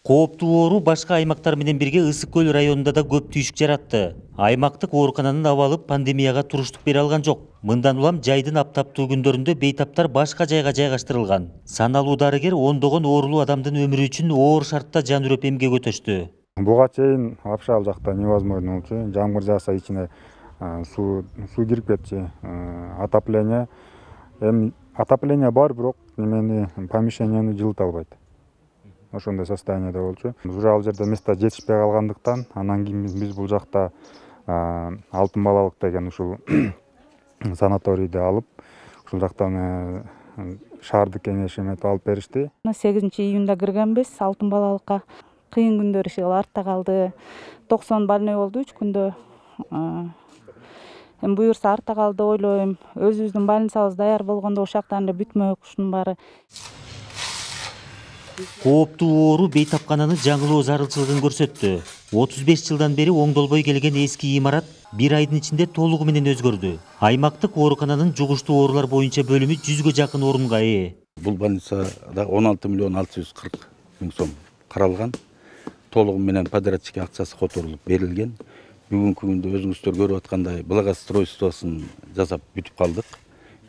Кооптуу оору башка аймактар менен бирге Ысык көл районунда да көп түйшүк жаратты. Аймактык оорукананын абалы пандемияга туруштук бере алган жок. Мындан улам жайдын аптаптуу күндөрүндө бейтаптар башка жайга жайгаштырылган. Саналуу дарыгер ондогон оорулуу адамдын өмүрү үчүн оор шартта жан үрөп эмгек өтөштү. Буга чейин вообще ал жакта невозможно болчу. Жамгыр жааса ичине суу кирип кетчү. Отопление бар, бирок помещениени жылыта албайт. Ошондой состояниеде болчу. Уже ал жерде место жетишпей калгандыктан, анан кийин биз бул жакта Алтын балалык деген ушул санаторийди алып, ушул жактан шаардык кеңеш эметип алып беришти. 8-июнда киргенбиз Алтын балалыкка. Кыйын күндөр иши артта калды. 90 больной болду 3 күндө. Эми буюрса артта калды ойлойм. Өзүбүздүн больницабыз даяр болгондо ошактан эле бүтмөк ушунун баары. Кооптуу оору бейтапкананын жаңылоо зарылчылыгын көрсөттү. 35 жылдан бери оңдолбой келген эски имарат бир айдын ичинде толугу менен өзгөрдү. Аймактык оорукананын жугуштуу оорулар боюнча бөлүмү 100гө жакын орунга ээ. Бул больницада 16 миллион 640 миң сом каралган. Толугу менен подрядчик акчасы которулуп берилген. Бүгүнкү күндө өзүңүздөр көрүп аткандай благоустройствосун жасап бүтүп калдык.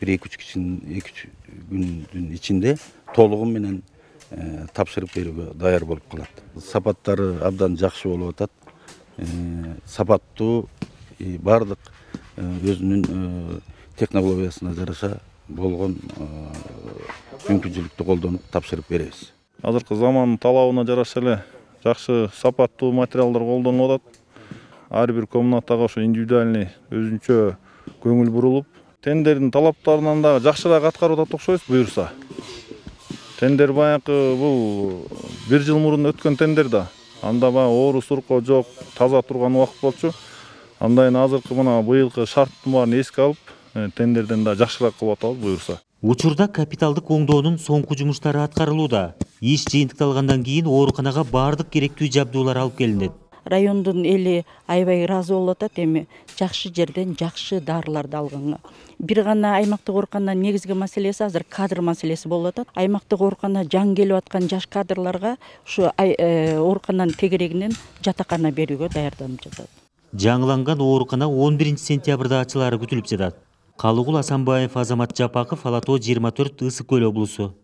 1-2 күндүн ичинде толугу менен тапшырып берүүгө даяр болуп калат. Сапаттары абдан жакшы болуп атат. Сапаттуу бардык өзүнүн технологиясына жараша болгон мүмкүнчүлүктү колдонуп тапшырып беребиз. Азыркы замандын талабына жараша эле жакшы сапаттуу материалдар колдонулуп атат. Ар бир комнатага ошо индивидуальный өзүнчө көңүл бурулуп, тендердин талаптарынан да жакшыраак аткарып атат окшойбуз буюрса. Тендер баягы бул 1 жыл мурун өткөн тендер да. Анда баягы оору сурко жок, таза турган убакыт болчу. Андан азыркы мына быйылкы шарттын баарын эске алып, тендерден да жакшыраак кылып атабыз буюрса. Учурда капиталдык оңдоонун соңку жумуштары аткарылууда. Иш жыйынтыкталгандан кийин ооруканага бардык керектүү жабдуулар алып келинет. Райондун эли аябай ыраазы болуп атат эми жакшы жерден жакшы дарыларды алганга. Бир гана аймактык оорукананын негизги маселеси азыр кадр маселеси болуп атат. Аймактык оорукана жаңы келип аткан жаш кадрларга ушу оорукананын тегерегинен жатакана берүүгө даярданып жатат. Жаңыланган оорукана 11 сентябрда ачылаары күтүлүп жатат. Калыгул Асанбаев, Азамат Жапаков, Ала Тоо 24, Ысык көл облусу.